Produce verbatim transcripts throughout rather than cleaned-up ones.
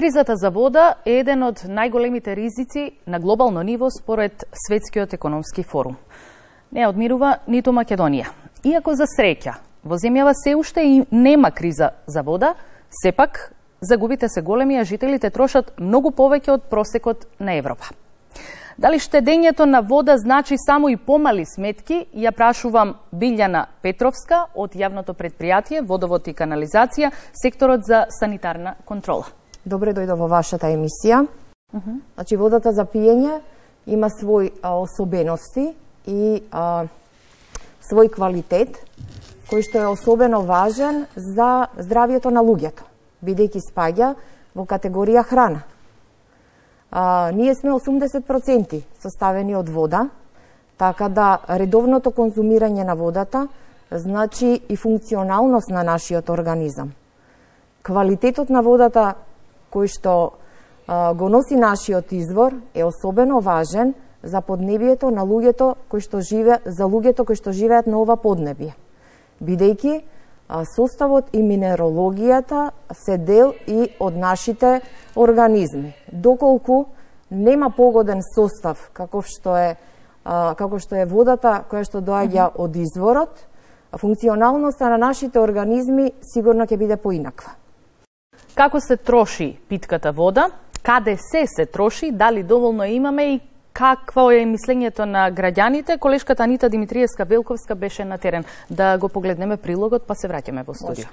Кризата за вода е еден од најголемите ризици на глобално ниво според Светскиот економски форум. Не одмирува ниту Македонија. Иако за среќа во земјава се уште и нема криза за вода, сепак загубите се големи, а жителите трошат многу повеќе од просекот на Европа. Дали штедењето на вода значи само и помали сметки, ја прашувам Билјана Петровска од јавното предпријатие Водовод и канализација, секторот за санитарна контрола. Добре дојде во вашата емисија. Uh -huh. Значи, водата за пиење има свои а, особености и а, свој квалитет, кој што е особено важен за здравието на луѓето, бидејќи спаѓа во категорија храна. А, ние сме осумдесет проценти составени од вода, така да редовното конзумирање на водата значи и функционалност на нашиот организам. Квалитетот на водата кој што а, го носи нашиот извор е особено важен за поднебието на луѓето кои што живе за луѓето кои што живеат на ова поднебие, бидејќи составот и минерологијата се дел и од нашите организми. Доколку нема погоден состав каков што е а, како што е водата која што доаѓа од изворот, функционалноста на нашите организми сигурно ќе биде поинаква. Како се троши питката вода? Каде се се троши? Дали доволно имаме и какво е мислењето на граѓаните? Колешката Анита Димитриевска-Велковска беше на терен. Да го погледнеме прилогот, па се враќаме во студио.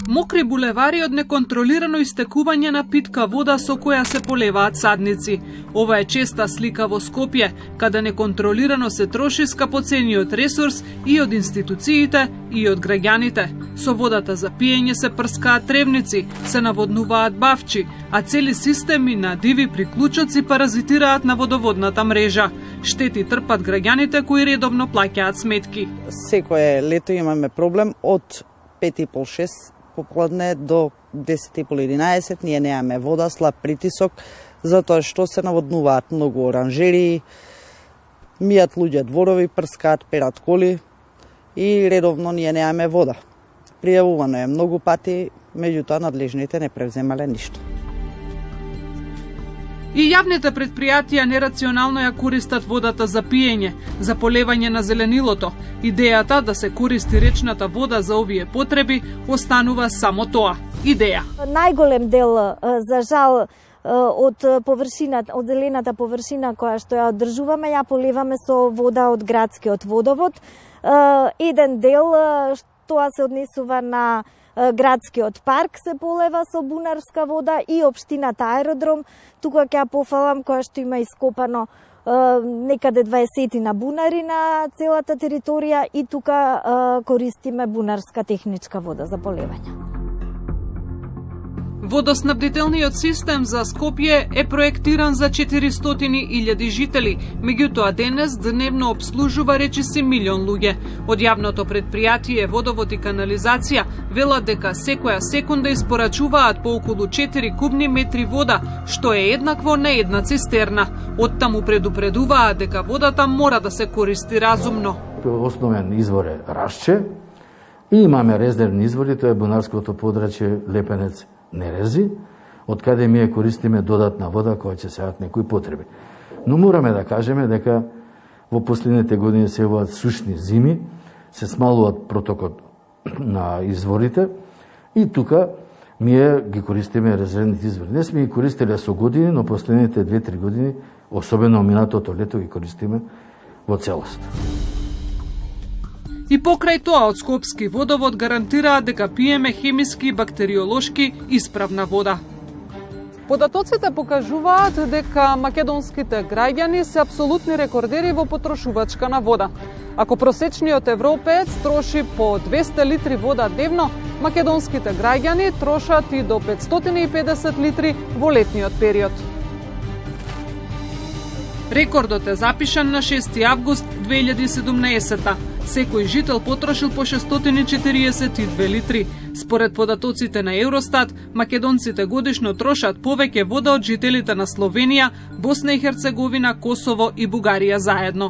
Мокри булевари од неконтролирано истекување на питка вода со која се полеваат садници. Ова е честа слика во Скопје, каде неконтролирано се троши скапоцениот ресурс и од институциите и од граѓаните. Со водата за пиење се прскаат тревници, се наводнуваат бавчи, а цели системи на диви приклучоци паразитираат на водоводната мрежа. Штети трпат граѓаните кои редовно плаќаат сметки. Секое лето имаме проблем од пет и пол шест попладне до десет и пол единаесет, ние немаме вода, слаб притисок, затоа што се наводнуваат многу оранжери, мијат луѓе дворови, прскаат, перат коли и редовно ние немаме вода. Пријавувано е многу пати, меѓутоа надлежните не превземале ништо. И јавните предпријатија нерационално ја користат водата за пиење, за полевање на зеленилото. Идејата да се користи речната вода за овие потреби останува само тоа. Идеја. Најголем дел, за жал, од површината, од зелената површина која што ја одржуваме, ја поливаме со вода од градскиот водовод. Еден дел, тоа се однесува на градскиот парк, се полева со бунарска вода и општината Аеродром. Тука ќе ја пофалам која што има ископано некаде дваесет на бунари на целата територија и тука користиме бунарска техничка вода за полевање. Водоснабдителниот систем за Скопје е проектиран за четиристотини илјади жители, меѓутоа денес дневно обслужува речиси милион луѓе. Од јавното предпријатие Водовод и канализација велат дека секоја секунда испорачуваат по околу четири кубни метри вода, што е еднакво на една цистерна. Оттаму предупредуваат дека водата мора да се користи разумно. Основен извор е Рашче и имаме резервни извори, тоа е бунарското подрачје Лепенец Нерези, од каде ми ја користиме додатна вода која ќе сеат некои потреби. Но мораме да кажеме дека во последните години се еваат сушни зими, се смалуваат протокот на изворите и тука ние ги користиме резервните извори. Не сме ги користеле со години, но последните две-три години, особено минатото лето, ги користиме во целост. И покрај тоа од Скопски водовод гарантираат дека пиеме хемиски и бактериолошки исправна вода. Податоците покажуваат дека македонските граѓани се апсолутни рекордери во потрошувачка на вода. Ако просечниот европеец троши по двесте литри вода дневно, македонските граѓани трошат и до петстотини и педесет литри во летниот период. Рекордот е запишан на шести август две илјади и седумнаесета. Секој жител потрошил по шестстотини и четириесет и две литри. Според податоците на Евростат, македонците годишно трошат повеќе вода од жителите на Словенија, Босна и Херцеговина, Косово и Бугарија заедно.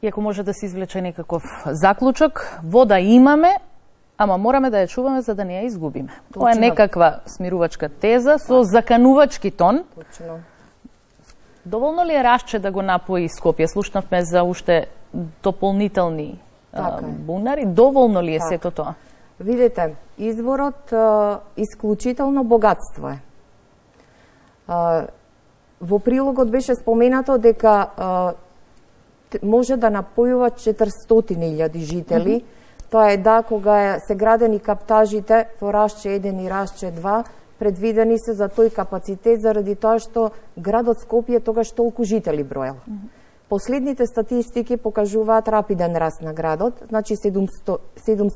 Иако може да се извлече некаков заклучок, вода имаме, ама мораме да ја чуваме за да не ја изгубиме. Тоа е некаква смирувачка теза со заканувачки тон. Точно. Доволно ли е Рашче да го напои Скопје? Слушнавме за уште дополнителни а, бунари. Доволно ли е така. сето тоа? Видете, изворот а, исклучително богатство е. А, во прилогот беше споменато дека а, може да напојува четиристотини илјади жители. Mm -hmm. Тоа е да, кога се градени каптажите во Рашче еден и Рашче два, предвидени се за тој капацитет заради тоа што градот Скопје тогаш толку жители броел. Mm -hmm. Последните статистики покажуваат рапиден раст на градот, значи седумсто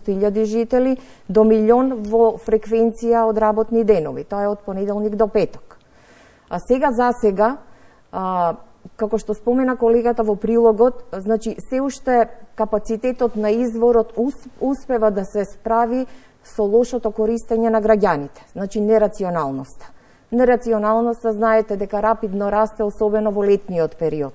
илјади жители до милион во фреквенција од работни денови. Тоа е од понеделник до петок. А сега за сега, а, како што спомена колегата во прилогот, значи се уште капацитетот на изворот успева да се справи со лошото користење на граѓаните, значи нерационалноста. Нерационалноста знаете дека рапидно расте, особено во летниот период.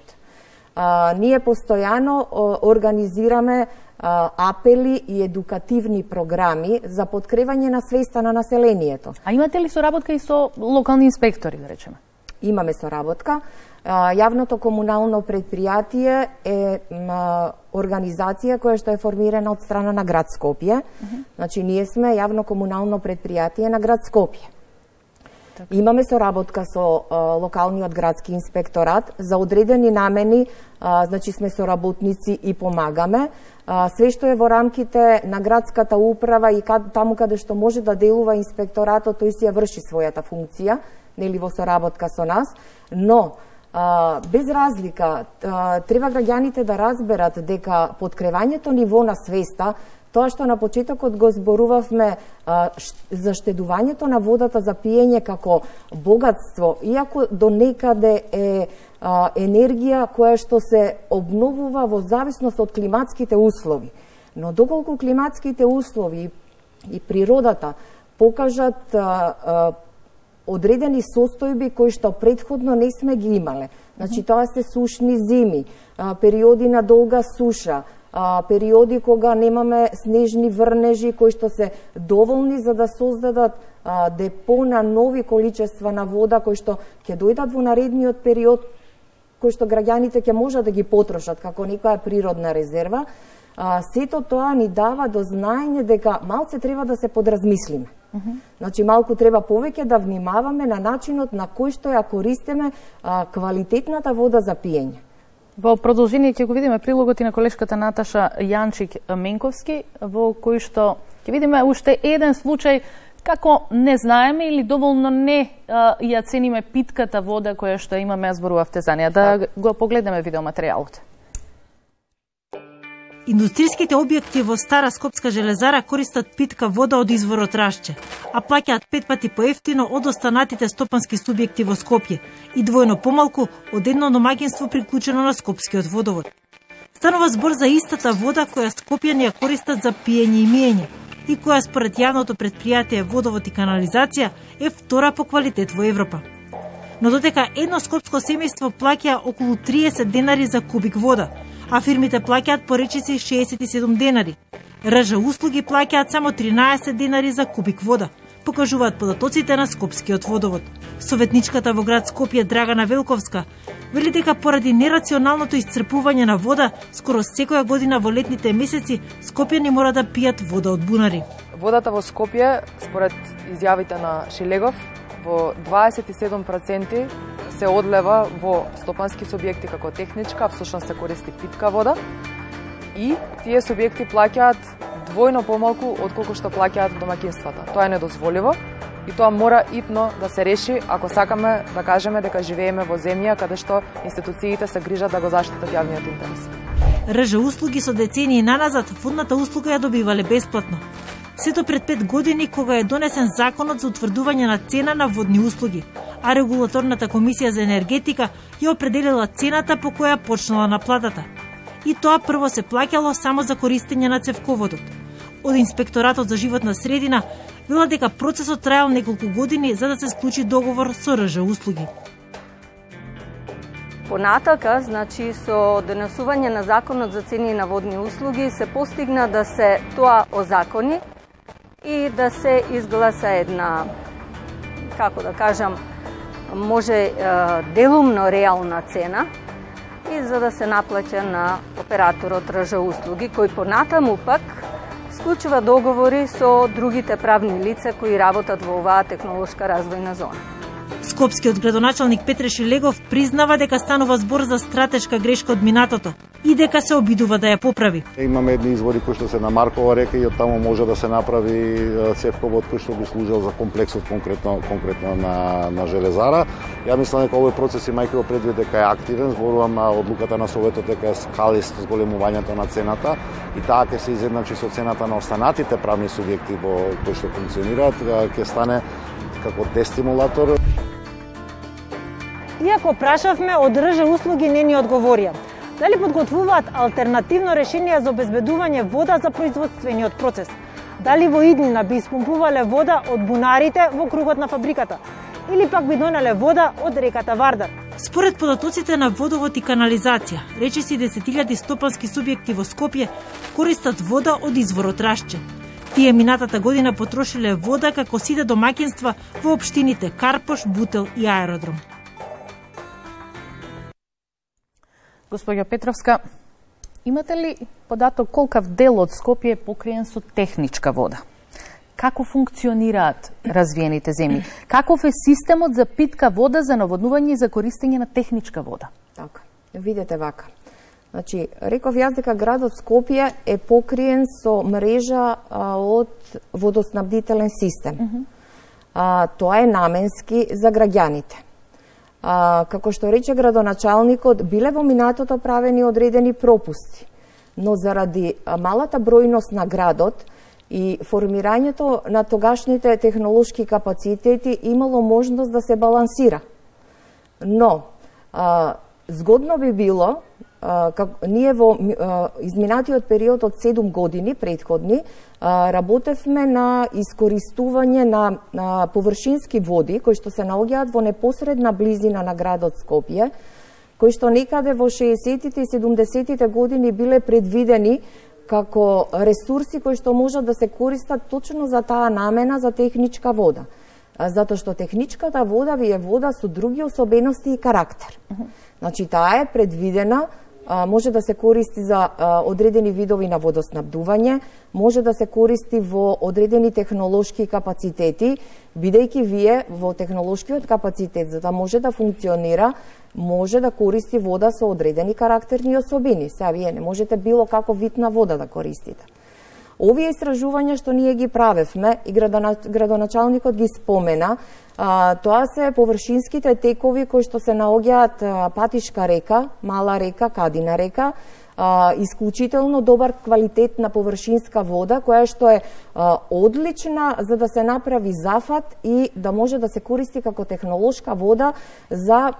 А, ние постојано о, организираме а, апели и едукативни програми за подкрепање на свеста на населението. А имате ли соработка и со локални инспектори, да речеме? Имаме соработка. А, јавното комунално предпријатие е а, организација која што е формирана од страна на град Скопје. Uh -huh. Значи ние сме јавно комунално предпријатие на град Скопје. Така. Имаме соработка со а, локалниот градски инспекторат за одредени намени, а, значи сме соработници и помагаме. А, све што е во рамките на градската управа и кад, таму каде што може да делува инспекторатот, тој си ја врши својата функција, нели во соработка со нас, но а, без разлика а, треба граѓаните да разберат дека подкревањето ниво на свеста, тоа што на почетокот го зборувавме а, за штедувањето на водата за пиење како богатство, иако до некаде е а, енергија која што се обновува во зависност од климатските услови. Но доколку климатските услови и природата покажат а, а, одредени состојби кои што предходно не сме ги имале. Значи тоа се сушни зими, а, периоди на долга суша, а, периоди кога немаме снежни врнежи кои што се доволни за да создадат а, депо на нови количества на вода кои што ќе дојдат во наредниот период, кои што граѓаните ќе можат да ги потрошат како некоја природна резерва. А, сето тоа ни дава до знаење дека малце треба да се подразмислиме. Uh -huh. Значи малку треба повеќе да внимаваме на начинот на кој што ја користиме а, квалитетната вода за пиење. Во продолжение ќе го видиме прилогот и на колешката Наташа Јанчик-Менковски, во кој што ќе видиме уште еден случај како не знаеме или доволно не а, ја цениме питката вода која што имаме, ја зборувавте за неја. Да го погледнеме видеоматеријалот. Индустријските објекти во Стара Скопска железара користат питка вода од изворот Рашче, а плаќаат пет пати поевтино од останатите стопански субјекти во Скопје и двојно помалку од едно домаќинство приклучено на Скопскиот водовод. Станува збор за истата вода која скопјани ја користат за пиење и миење и која според јавното предпријатие Водовод и канализација е втора по квалитет во Европа. Но додека едно скопско семејство плаќа околу триесет денари за кубик вода, а фирмите плаќаат по речиси шеесет и седум денари. РЖ услуги плаќаат само тринаесет денари за кубик вода, покажуваат податоците на Скопскиот водовод. Советничката во град Скопје Драгана Велковска вели дека поради нерационалното исцрпување на вода, скоро секоја година во летните месеци скопјани мора да пијат вода од бунари. Водата во Скопје, според изјавите на Шилегов, во дваесет и седум проценти се одлева во стопански субјекти како техничка, всушност се користи питка вода и тие субјекти плаќаат двојно помалку од колку што плаќаат домаќинствата. Тоа е недозволиво и тоа мора итно да се реши ако сакаме да кажеме дека живееме во земја каде што институциите се грижат да го заштитат јавниот интерес. РЖ услуги со децении наназад водната услуга ја добивале бесплатно. Сето пред пет години кога е донесен законот за утврдување на цена на водни услуги, а регулаторната комисија за енергетика ја определила цената по која почнала наплатата. И тоа прво се плаќало само за користење на цевководот. Од Инспекторатот за животна средина вела дека процесот траел неколку години за да се склучи договор со РЖ услуги. Понатака, значи, со донесување на Законот за цени на водни услуги се постигна да се тоа озакони и да се изгласа една, како да кажам, може делумно реална цена и за да се наплаќа на операторот РЖ услуги, кој понатаму пак склучува договори со другите правни лица кои работат во оваа технолошка развојна зона. Скопскиот градоначалник Петре Шелегов признава дека станува збор за стратешка грешка од минатото и дека се обидува да ја поправи. Имаме едни извори кои што се на Маркова река и од таму може да се направи цевковод кој што би служел за комплексот конкретно конкретно на на железара. Ја мислам дека овој процес имајќи го предвид дека е активен, зборувам на одлуката на Советот дека е скалист зголемувањето на цената и таа ќе се изедначи со цената на останатите правни субјекти во кои што функционираат, ќе стане како дестимулатор. Иако прашавме, од РЖ услуги не ни одговорија. Дали подготвуваат алтернативно решение за обезбедување вода за производствениот процес? Дали во иднина би испумпувале вода од бунарите во кругот на фабриката? Или пак би донеле вода од реката Вардар? Според податоците на водовод и канализација, речиси десет илјади стопански субјекти во Скопје користат вода од изворот Рашче. Тие минатата година потрошиле вода како сите домаќинства во општините Карпош, Бутел и Аеродром. Госпоѓо Петровска, имате ли податок колкав дел од Скопје е покриен со техничка вода? Како функционираат развиените земји? Каков е системот за питка вода за наводнување и за користење на техничка вода? Така, видете вака. Значи, реков јас дека градот Скопје е покриен со мрежа а, од водоснабдителен систем. Mm -hmm. а, тоа е наменски за граѓаните. А, како што рече градоначалникот, биле во минатото правени одредени пропусти, но заради малата бројност на градот и формирањето на тогашните технолошки капацитети имало можност да се балансира. Но, а, згодно би било, а, как, ние во а, изминатиот период од седум години предходни, а, работевме на искористување на, на површински води, кои што се наоѓаат во непосредна близина на градот Скопје, кои што некаде во шеесеттите и седумдесеттите години биле предвидени како ресурси кои што можат да се користат точно за таа намена за техничка вода. Затоа што техничката вода ви е вода со други особености и карактер. Значи, таа е предвидена, може да се користи за одредени видови на водоснабдување, може да се користи во одредени технолошки капацитети, бидејќи вие во технолошкиот капацитет, за да може да функционира, може да користи вода со одредени карактерни особини. Сега вие не можете било како вид на вода да користите. Овие истражувања што ние ги правевме и градоначалникот ги спомена, а, тоа се површинските текови кои што се наоѓаат Патишка река, Мала река, Кадина река, а, исклучително добар квалитет на површинска вода, која што е а, одлична за да се направи зафат и да може да се користи како технолошка вода за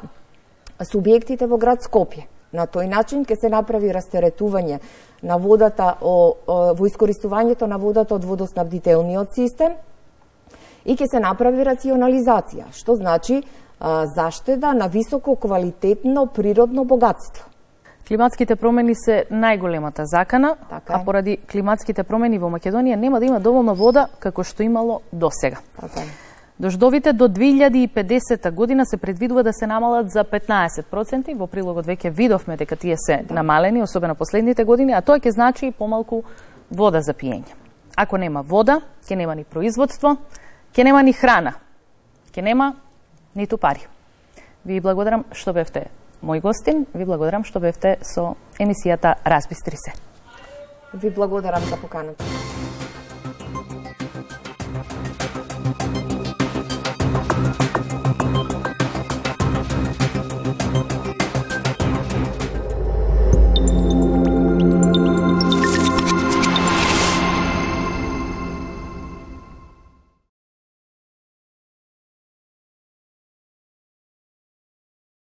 субјектите во град Скопје. На тој начин ќе се направи растеретување на водата о, о, во искористувањето на водата од водоснабдителниот систем и ќе се направи рационализација, што значи а, заштеда на високо квалитетно природно богатство. Климатските промени се најголемата закана, така а поради климатските промени во Македонија нема да има доволно вода како што имало досега. Така е. Дождовите до две илјади и педесета година се предвидува да се намалат за петнаесет проценти. Во прилогот веќе видовме дека тие се да. намалени, особено последните години, а тоа ќе значи и помалку вода за пиење. Ако нема вода, ќе нема ни производство, ќе нема ни храна, ќе нема ниту пари. Ви благодарам што бевте мој гостин, ви благодарам што бевте со емисијата Разбистри се. Ви благодарам за поканата.